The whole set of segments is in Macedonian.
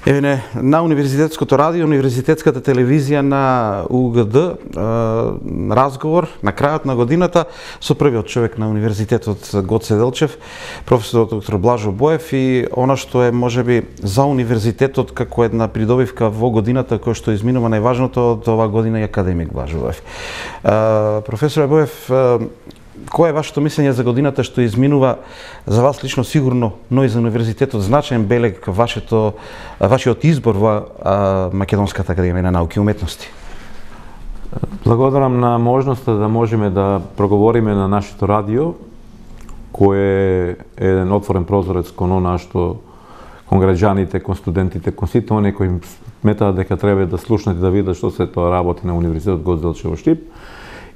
Еве на Универзитетското радио, Универзитетската телевизија на УГД, разговор на крајот на годината со првиот човек на Универзитетот Гоце Делчев, професорот доктор Блажо Боев, и она што е можеби за Универзитетот како една придобивка во годината која што изминува најважното од оваа година е академик Блажо Боев. Професоре Боев, кој е вашето мислење за годината што изминува за вас лично сигурно, но и за Универзитетот значаен белег вашиот избор во Македонската академија на науки и уметности? Благодарам на можноста да можеме да проговориме на нашето радио, кој е еден отворен прозорец кон она што кон граѓаните, кон студентите, кон сите оние кои сметаат дека треба да слушнат и да видат што се тоа работи на Универзитетот Гоце Делчев во Штип.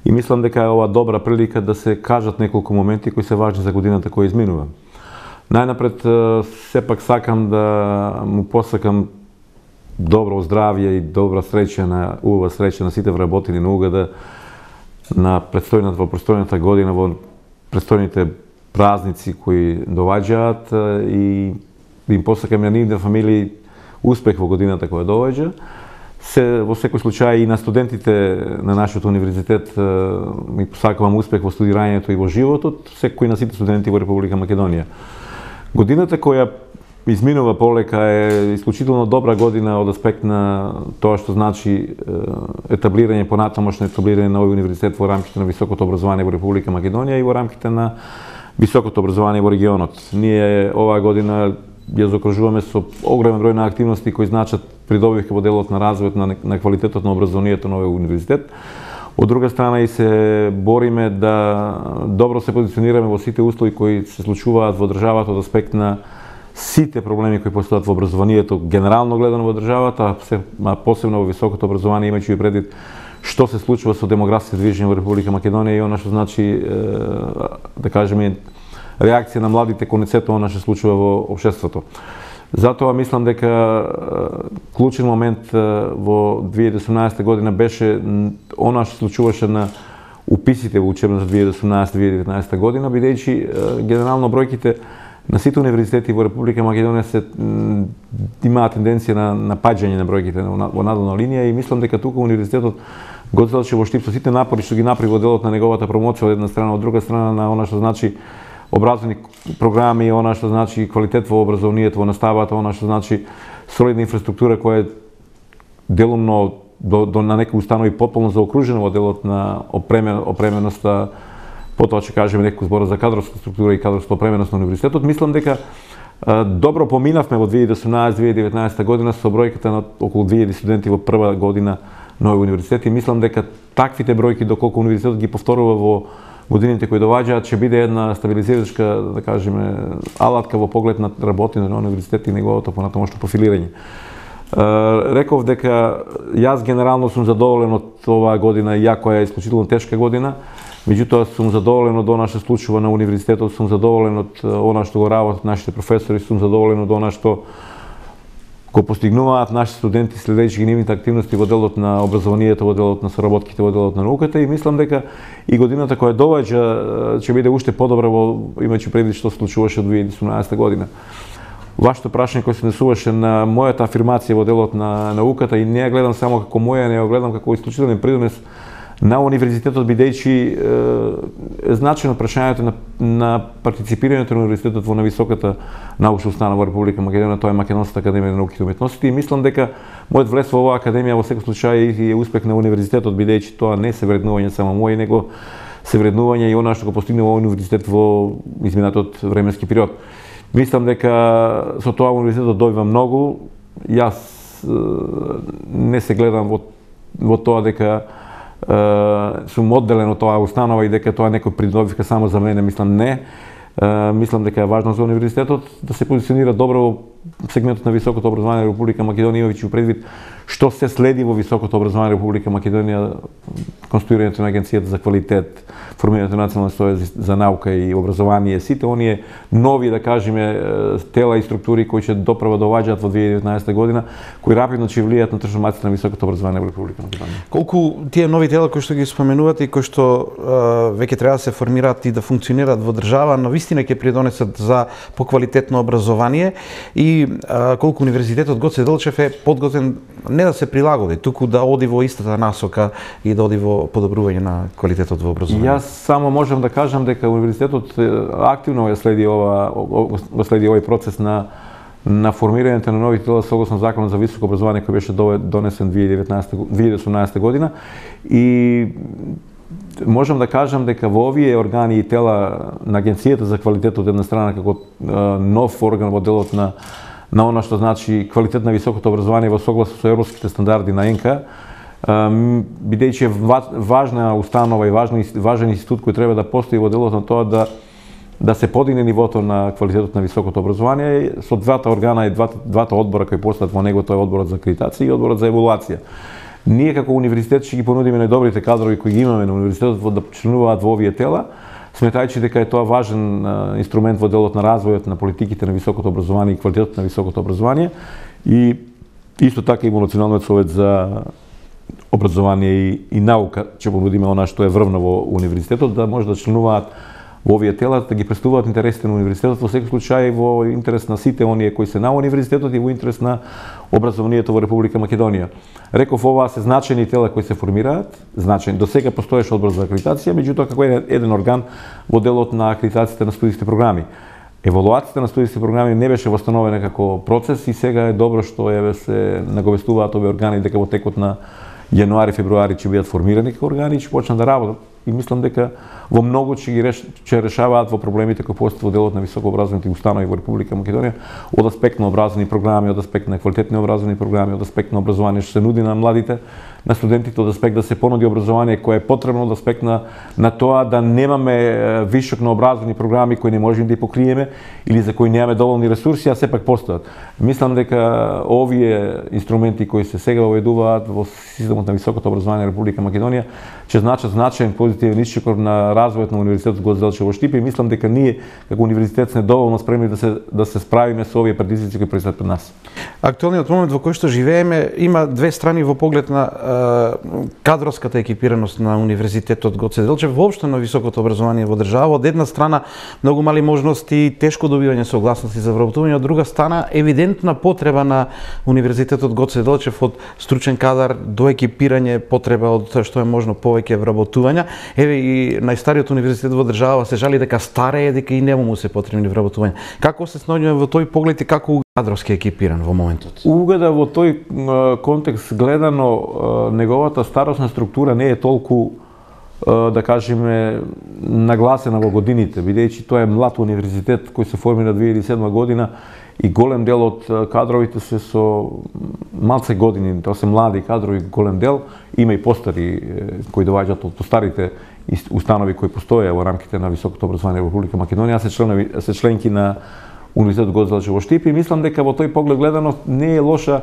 И мислам дека е ова добра прилика да се кажат неколку моменти кои се важни за годината која изминува. Најнапред, сепак сакам да му посакам добро здравје и добра среќа убава среќа на сите вработени на УГД на предстојната година, во предстојните празници кои доваѓаат, и им посакам на нивните фамилии успех во годината која доваѓа. Во секој случај и на студентите на нашиот универзитет ми посакувам успех во студирањето и во животот, секој на сите студенти во Република Македонија. Годината која изминува полека е исклучително добра година од аспект на тоа што значи етаблирање, понатамошно етаблирање на овој универзитет во рамките на високото образование во Република Македонија и во рамките на високото образование во регионот. Ние оваа година ја заокружуваме со огромен број на активности кои значат придобивка во делот на развојот на квалитетот на образованието на овој универзитет. Од друга страна и се бориме да добро се позиционираме во сите услови кои се случуваат во државата од аспект на сите проблеми кои постојат во образованието, генерално гледано во државата, а посебно во високото образование, имајќи предвид што се случува со демографските движења во Република Македонија и она што значи, да кажеме, реакција на младите кон сето она што се случува во општеството. Затоа мислам дека клучен момент во 2018 година беше она што се случуваше на уписите во учебната 2018-2019 година, бидејќи генерално бројките на сите универзитети во Република Македонија се имаат тенденција на паѓање на бројките во надолна линија, и мислам дека тука универзитетот Гоце Делчев во Штип со сите напори што ги направи во делот на неговата промоција од една страна, од друга страна на она што значи образовни програми, она што значи квалитет во образованието, во наставата, она што значи солидна инфраструктура која е делумно на некои установи потполно заокружена во делот на опременоста, потоа ќе кажеме некој збор за кадровска структура и кадровска опременост на универзитетот. Мислам дека добро поминавме во 2018-2019 година со бројката на околу 2000 студенти во прва година на овој универзитет, и мислам дека таквите бројки доколку универзитетот ги повторува во годините кои доваѓаат ќе биде една стабилизирачка, да кажеме, алатка во поглед на работење на универзитет и неговото понатамошно профилирање. Реков дека јас генерално сум задоволен од оваа година, иако е исклучително тешка година, меѓутоа сум задоволен од она што случува на универзитетот, сум задоволен од она што го работат нашите професори, сум задоволен од она што го постигнуваат нашите студенти следејќи нивните активности во делот на образованието, во делот на соработките, во делот на науката, и мислам дека и годината која доваѓа ќе биде уште подобра имајќи предвид што се случуваше од 2018 година. Вашето прашање кој се однесуваше на мојата афирмација во делот на науката, и не ја гледам само како моја, не ја гледам како исклучителен придонес на универзитетот, бидејќи е значено прашањето на партиципирањето на универзитетот во нависоката научна установа во Република Македонија, тоа е Македонската академија на науките и уметностите, и мислам дека мојот влез во оваа академија во секој случај е успех на универзитетот, бидејќи тоа не се вреднување само мој, него се вреднување и она што го постигнува овој универзитет во изминатиот временски период. Мислам дека со тоа универзитетот добива многу. Јас не се гледам во тоа дека сум одделен од тоа установа и дека тоа некој придобивка само за мене, мислам не. Мислам дека е важно за универзитетот да се позиционира добро во сегментот на високото образование на Република Македонија, имајќи предвид што се следи во високото образование на Република Македонија, конституирањето на Агенцијата за квалитет, формирањето на национална стоја за наука и образование, сите оние нови, да кажеме, тела и структури кои ќе доправа доваѓаат во 2019 година, кои рапидно ќе влијаат на трансформацијата на високото образование во Република Македонија. Колку тие нови тела кои што ги споменувате и кои што веќе треба да се формираат и да функционираат во држава, но вистина ќе придонесат за поквалитетно образование, и колку Универзитетот Гоце Делчев е подготвен не да се прилагоди, туку да оди во истата насока и да оди во подобрување на квалитетот во образованието. Јас само можам да кажам дека Универзитетот активно следи овој процес на формирањето на нови тела согласно Законот за високо образование кој беше донесен 2018 година и можам да кажам дека во овие органи и тела на Агенцијата за квалитет од една страна како нов орган во делот на она што значи квалитет на високото образование во согласност со европските стандарди на ЕНКА, бидејќи е важна установа и важен институт кој треба да постои во делот на тоа да се подигне нивото на квалитетот на високото образование со двата органа и двата одбора кои постојат во него, тоа е одборот за акредитација и одборот за евалуација. Ние како универзитет ќе ги понудиме најдобрите кадрови кои ги имаме на универзитетот да членуваат во овие тела, сметајќи дека е тоа важен инструмент во делот на развојот на политиките на високото образование и квалитетот на високото образование и исто така и во Националниот совет за образование и наука ќе понудиме она што е врвно во универзитетот да може да членуваат во овие тела, да ги представуваат интересите на универзитетот, во секој случај во интерес на сите оние кои се на универзитетот и во интерес на образованието во Република Македонија. Реков, оваа се значајни тела кои се формираат, значајни. До сега постоеше одбор за акредитација, меѓутоа како еден орган во делот на акредитацијата на студиски програми. Евалуацијата на студиски програми не беше восстановена како процес и сега е добро што се наговестуваат овие органи дека во текот на јануари, февруари ќе бидат формирани како органи и ќе почнат да работат. И мислам дека во многу ќе решаваат во проблемите кои постојат во делот на високообразовните установи во Република Македонија од аспект на образовни програми, од аспект на квалитетни образовни програми, од аспект на образование што се нуди на младите, на студентите, од аспект да се понуди образование кое е потребно, од аспект на тоа да немаме вишок на образовни програми кои не можеме да ги покриеме или за кои немаме доволни ресурси, а сепак постојат. Мислам дека овие инструменти кои се сега воведуваат во системот на високото образование на Република Македонија ќе значат значаен позитивен исчекор на развојот на Универзитетот Гоце Делчев во Штип и мислам дека ние како универзитет сме доволно спремни да се справиме со овие предизвици кои предстојат пред нас. Актуелниот момент во кој што живееме има две страни во поглед на кадровската екипираност на Универзитетот Гоце Делчев, воопшто на високото образование во држава. Од една страна многу мали можности, тешко добивање согласности за вработување, од друга страна евидентна потреба на Универзитетот Гоце Делчев од стручен кадар до екипирање, потреба од што е можно повеќе вработувања. Еве и најстариот универзитет во држава се жали дека старее, дека и нему му се потребни вработувања. Како се снаоѓаме во тој поглед и како кадровски екипиран во моментот? Угада во тој контекст гледано, неговата старосна структура не е толку, да кажеме, нагласена во годините, бидејќи тоа е млад универзитет кој се формира 2007 година и голем дел од кадровите се со малце години, тоа се млади кадрови, голем дел, има и постари кои доаѓаат од постарите установи кои постоја во рамките на високото образование во Република Македонија, се членки на Универзитетот Гоце Делчев во Штип и мислам дека во тој поглед гледано не е лоша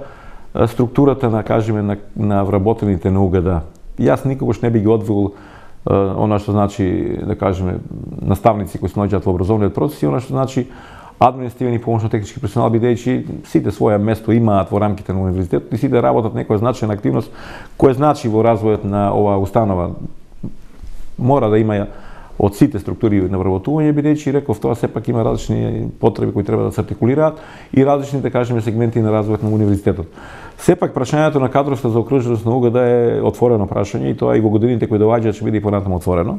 структурата на вработените на УГД. Јас никогаш не би ги одвил она што значи, да кажеме, наставници кои се наоѓаат во образовниот процес и она што значи административен и помошно-технички персонал, бидејќи сите своја место имаат во рамките на универзитетот и сите работат некоја значајна активност која значи во развојот на оваа установа. Мора да има од сите структури на вработување, бидејќи реков тоа сепак има различни потреби кои треба да се артикулираат и различни, да кажеме, сегменти на развојот на универзитетот. Сепак прашањето на кадровска заокруженост на УГД е отворено прашање и тоа и во годините кои доаѓаат ќе биде и понатаму отворено.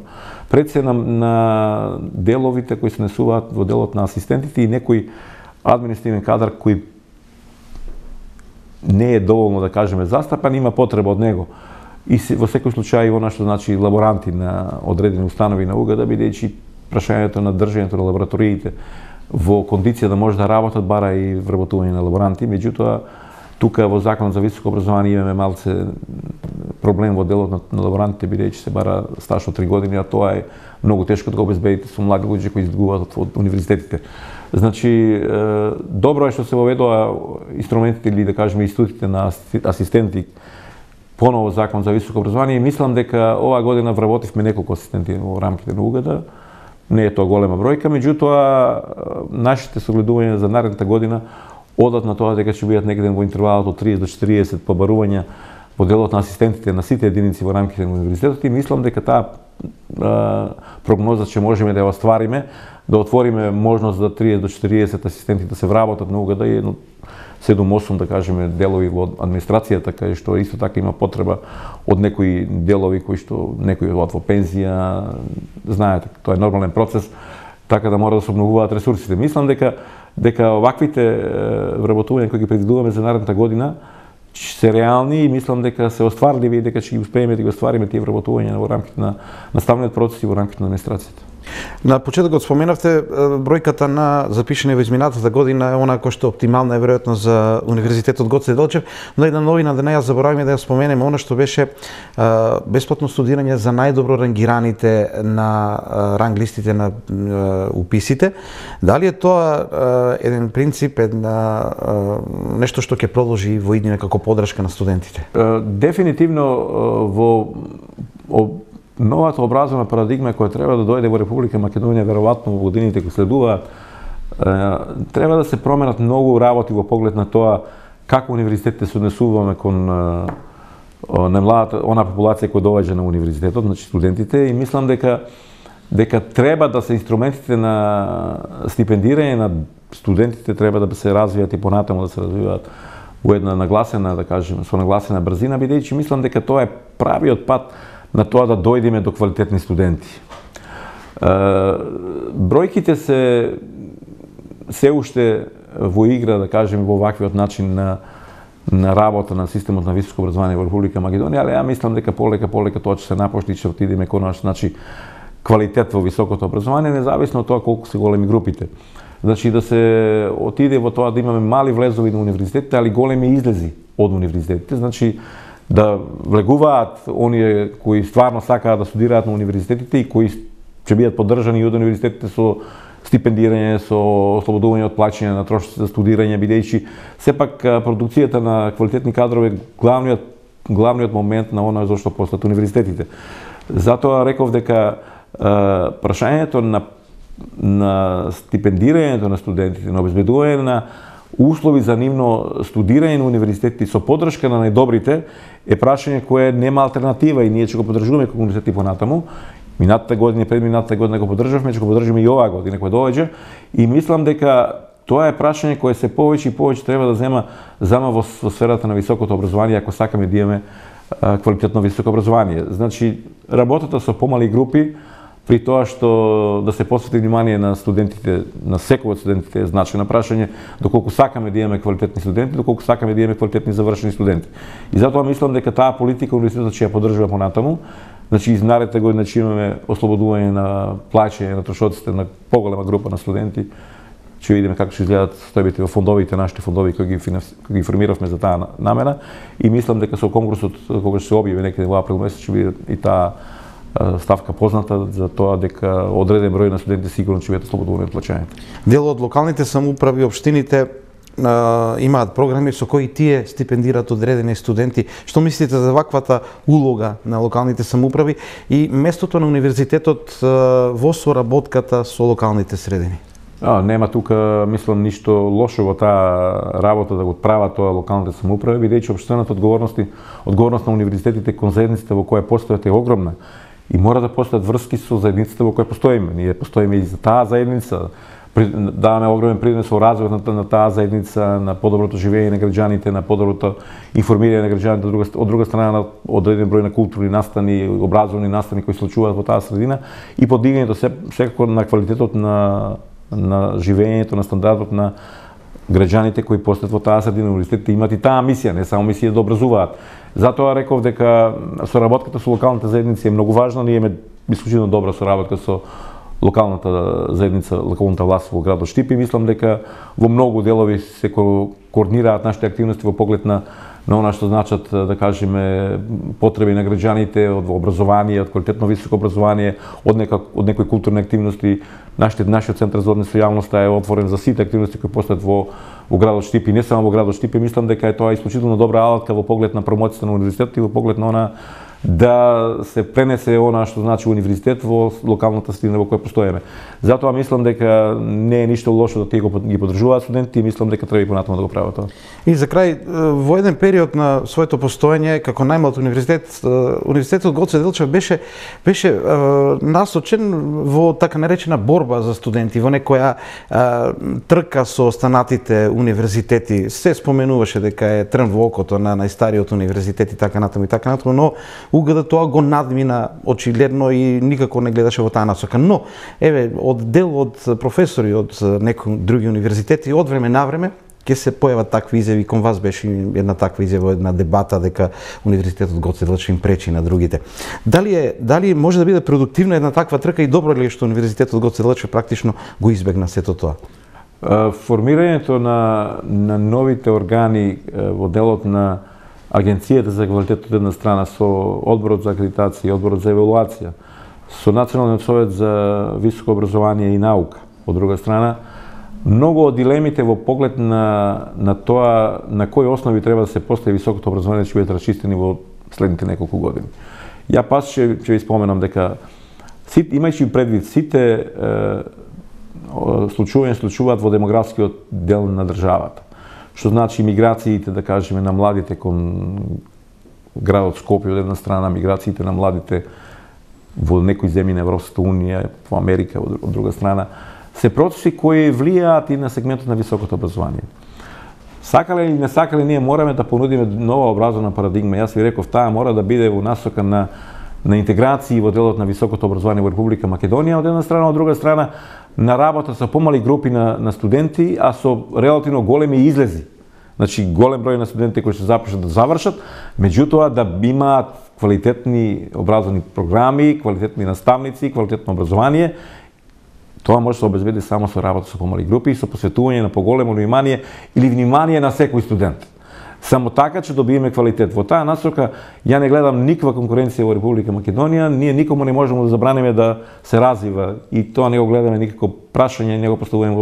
Пред се на деловите кои се несуваат во делот на асистентите и некој административен кадар кој не е доволно, да кажеме, застапан, има потреба од него. И во секој случај она што значи лаборанти на одредени установи на УГД, бидејќи прашањето на држењето на лабораториите во кондиција да може да работат бара и вработување на лаборанти, меѓутоа тука во Законот за високо образование имаме малце проблем во делот на лаборантите, бидејќи се бара стаж од 3 години, а тоа е многу тешко да го обезбедите со млади луѓе кои изгубуваат од универзитетите. Значи, добро е што се воведува инструментите или, да кажеме, институтите на асистенти поново Закон за високо образование и мислам дека оваа година вработивме неколку асистенти во рамките на УГД. Не е тоа голема бројка, меѓутоа нашите согледувања за наредната година одат на тоа дека ќе бидат некаде во интервалот од 30 до 40 побарувања во делот на асистентите на сите единици во рамките на универзитетот и мислам дека таа прогноза ќе можеме да ја оствариме, да отвориме можност за 30 до 40 асистенти да се вработат на УГД и 7-8 да кажеме делови во администрацијата кај што исто така има потреба од некои делови кои што некои од во пензија, знаете, тоа е нормален процес, така да мора да се обновуваат ресурсите. Мислам дека оваквите вработувања кои ги предвидуваме за наредната година се реални и мислам дека се остварливи и дека ќе ги успееме да ги оствариме тие вработувања во рамките на наставниот процес и во рамките на администрацијата. На почетокот споменавте бројката на запишани во изминатата година е она кој што оптимална е веројатно за Универзитетот Гоце Делчев, но една новина да не ја забораваме да ја споменеме она што беше бесплатно студирање за најдобро рангираните на ранг листите на уписите. Дали е тоа еден принцип, нешто што ќе продолжи во иднина како поддршка на студентите? Дефинитивно во новата образовна парадигма која треба да дојде во Република Македонија веројатно во годините кои следуваат, треба да се променат многу работи во поглед на тоа како универзитетите се однесуваме кон на младата она популација која доаѓа на универзитетот, значи студентите, и мислам дека треба да се инструментите на стипендирање на студентите треба да се развијат и понатаму да се развиваат во една нагласена, да кажеме, со нагласена брзина, бидејќи мислам дека тоа е правиот пат на тоа да дојдеме до квалитетни студенти. Бројките се уште во игра, да кажеме, во ваквиот начин на работа на системот на високо образование во Република Македонија, али ја мислам дека полека тоа ќе се напошти и ќе отидеме кон значи квалитет во високото образование, независно од тоа колку се големи групите. Значи да се отиде во тоа да имаме мали влезови на универзитетите, али големи излези од универзитетите, значи да влегуваат оние кои стварно сакаат да студираат на универзитетите и кои ќе бидат поддржани и од универзитетите со стипендирање, со ослободување од плаќање на трошоци за студирање, бидејќи сепак продукцијата на квалитетни кадрови е главниот момент на она зашто постојат универзитетите. Затоа реков дека прашањето на стипендирањето на студентите, на обезбедување на услови за нивно студирање на универзитетите со поддршка на најдобрите е прашање кое нема алтернатива и ние ќе го поддржуваме како универзитети понатаму. Минатата година и предминатата година го поддржавме, ќе го поддржиме и оваа година која доаѓа, и мислам дека тоа е прашање кое се повеќе и повеќе треба да зема во сферата на високото образование ако сакаме да имаме квалитетно високо образование. Значи работата со помали групи при тоа што да се посвети внимание на студентите, на секој од студентите е значено прашање доколку сакаме да имаме квалитетни студенти, доколку сакаме да имаме квалитетни завршени студенти. И затоа мислам дека таа политика универзитетот ќе ја поддржува понатаму. Значи изнаредната година ќе имаме ослободување на плаќање на трошоците на поголема група на студенти. Ќе видиме како ќе изгледаат стојбите во фондовите, нашите фондови кои ги формиравме за таа намера, и мислам дека со конкурсот кога ќе се објави некаде во април месец ќе биде и таа ставка позната за тоа дека одреден број на студенти сигурно ќе бидат ослободувани од плаќањето. Дел од локалните самоуправи, општините имаат програми со кои тие стипендираат одредени студенти. Што мислите за ваквата улога на локалните самоуправи и местото на универзитетот во соработката со локалните средини? Нема тука, мислам, ништо лошо во таа работа да го прават тоа локалните самоуправи, бидејќи општената одговорност на универзитетите кон заедниците во која постојат е огромна. И мора да постојат врски со заедниците во која постоиме. Ние постоиме и за таа заедница, даваме огромен принос во развојот на таа заедница, на подоброто живење на граѓаните, на подоброто информирање на граѓаните, од друга страна на одреден број на културни настани, образовни настани кои се случуваат во таа средина и подигањето секако на квалитетот на живењето, на стандардот на граѓаните кои постојат во таа средина. Универзитетите имаат и таа мисија, не само мисија да образуваат. Затоа реков дека соработката со локалните заедници е многу важна. Ние имаме исклучително добра соработка со локалната заедница, локалната власт во градот Штип, и мислам дека во многу делови се координираат нашите активности во поглед на она што значат, да кажеме, потреби на граѓаните од образование, од квалитетно високо образование, од некои културни активности. Нашиот центар за однос со јавноста е отворен за сите активности кои постојат во градот Штип и не само во градот Штип. Мислам дека е тоа исклучително добра алатка во поглед на промоцијата на универзитетот и во поглед на да се пренесе она што значи универзитет во локалната средина во која постоеме. Затоа мислам дека не е ништо лошо да тие ги поддржуваат студентите и мислам дека треба и понатаму да го прават тоа. И за крај, во еден период на своето постоење како најмлад универзитет, универзитетот Гоце Делчев беше насочен во така наречена борба за студенти, во некоја трка со останатите универзитети. Се споменуваше дека е трн во окото на најстариот универзитет и така натаму, но УГД тоа го надмина очигледно и никако не гледаше во таа насока. Но, еве, од дел од професори од некои други универзитети, од време на време, ќе се појават такви изјави, кон вас беше една таква изјава, една дебата дека универзитетот Гоце Делчев им пречи на другите. Дали може да биде продуктивна една таква трка и добро ли е што универзитетот Гоце Делчев практично го избегна сето тоа? Формирањето на новите органи во делот на Агенцијата за квалитет од една страна со Одборот за акредитација и Одборот за евалуација, со Националниот совет за високо образование и наука, од друга страна, многу од дилемите во поглед на тоа на кои основи треба да се постави високото образование ќе бидат расчистени во следните неколку години. Ја пас ќе ви споменам дека имајќи предвид сите случуваат во демографскиот дел на државата, што значи миграциите, да кажеме, на младите кон градот Скопје од една страна, миграциите на младите во некои земји на Европската унија, во Америка од друга страна, се процеси кои влијаат и на сегментот на високото образование. Сакале или не сакале, ние мораме да понудиме нова образовна парадигма. Јас ви реков, таа мора да биде во насока на интеграција во делот на високото образование во Република Македонија, од една страна, од друга страна, на работа со помали групи на студенти, а со релативно големи излези. Значи, голем број на студенти кои ќе започнат да завршат, меѓутоа да имаат квалитетни образовни програми, квалитетни наставници, квалитетно образование. Тоа може да се обезбеди само со работа со помали групи и со посветување на поголемо внимание или внимание на секој студент. Само така ќе добиеме квалитет. Во таа насока ја не гледам никаква конкуренција во Република Македонија, ние никому не можеме да забранеме да се развива и тоа не го гледаме никако прашање, не го поставуваме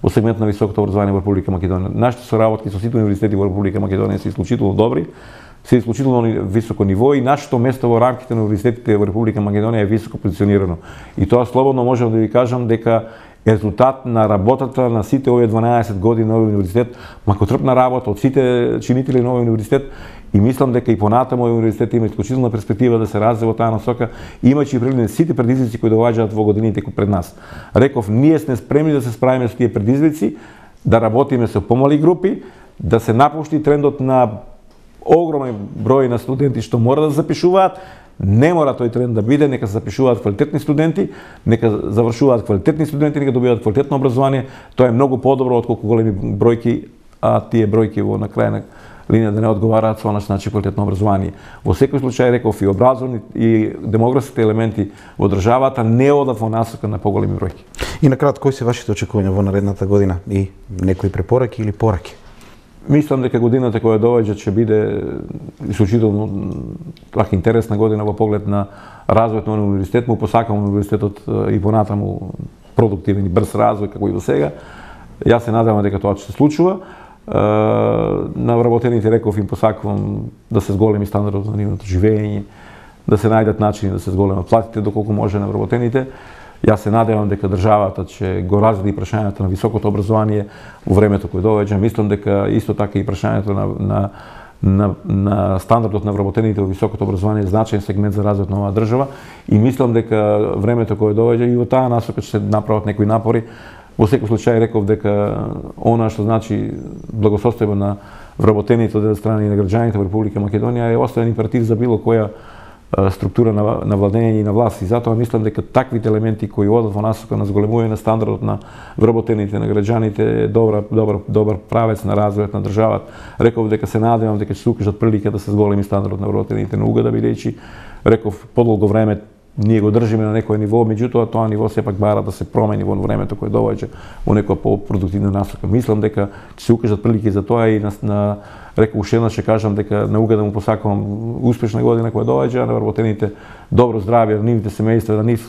во сегмент на високото образование во Република Македонија. Нашите соработки со сите универзитети во Република Македонија се исклучително добри, се исклучително високо ниво и нашето место во рамките на универзитетите во Република Македонија е високо позиционирано. И тоа слободно можам да ви кажам дека резултат на работата на сите овие 12 години на овој универзитет, макотрпна работа од сите чинители на овој универзитет и мислам дека и понатаму овој универзитет има исклучителна перспектива да се развива во таа насока, имајќи предвид сите предизвици кои доаѓаат во годините пред нас. Реков, ние сме спремни да се справиме со тие предизвици, да работиме со помали групи, да се напушти трендот на огромен број на студенти што мора да запишуваат. Не мора тој тренд да биде, нека се запишуваат квалитетни студенти, нека завршуваат квалитетни студенти, нека добиваат квалитетно образование. Тоа е многу подобро отколку големи бројки, а тие бројки во на крај на линија да не одговараат со значи квалитетно образование. Во секој случај реков и образовни и демографските елементи во државата не одат во насока на поголеми бројки. И на кратко, кои се вашите очекувања во наредната година и некои препораки или пораки? Мислам дека годината која доаѓа ќе биде исклучително така интересна година во поглед на развојот на универзитет. Му посакам универзитетот и понатаму продуктивен и брз развој како и до сега. Јас се надевам дека тоа ќе се случува. На вработените реков им посакувам да се зголеми стандардот на нивното живење, да се најдат начини да се зголемат платите доколку може на вработените. Јас се надевам дека државата ќе го разреди прашањето на високото образование во времето кое доаѓа. Мислам дека исто така и прашањето на стандардот на вработените во високото образование е значаен сегмент за развојот на оваа држава и мислам дека времето кое доаѓа и во таа насока ќе се направат некои напори. Во секој случај реков дека она што значи благосостојба на вработените од една страна и на граѓаните во Република Македонија е основен императив за било која структура на владење и на власт. И затоа мислам дека таквите елементи кои одат во насока на зголемување на стандардот на вработените, на граѓаните е добар правец на развојот на државата. Реков дека се надевам дека ќе се укажат прилика да се зголеми стандардот на вработените на УГД, бидејќи реков подолго време ние го држиме на некој ниво, меѓутоа тоа ниво сепак бара да се промени во времето кое доаѓа во некоја по-продуктивна насока. Мислам дека ќе се укажат прилики за тоа и реков уште еднаш ќе кажам дека на УГД му посакувам успешна година која доаѓа, на вработените добро здравје, на нивните семејства, да нив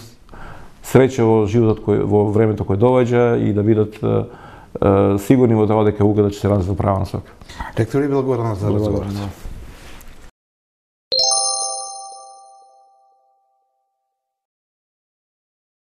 среќа во животот во времето кое доаѓа и да бидат сигурни во тоа дека УГД ќе се развива во права насока. Ректор, ви благодарам за разговор.